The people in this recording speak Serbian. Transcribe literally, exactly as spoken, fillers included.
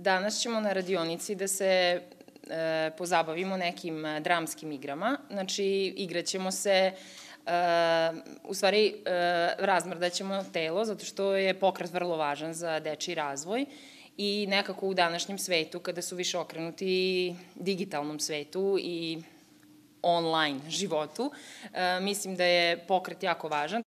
Danas ćemo na radionici da se pozabavimo nekim dramskim igrama. Znači, igraćemo se, u stvari razmrdaćemo telo, zato što je pokret vrlo važan za dečiji razvoj i nekako u današnjem svetu, kada su više okrenuti digitalnom svetu i online životu, mislim da je pokret jako važan.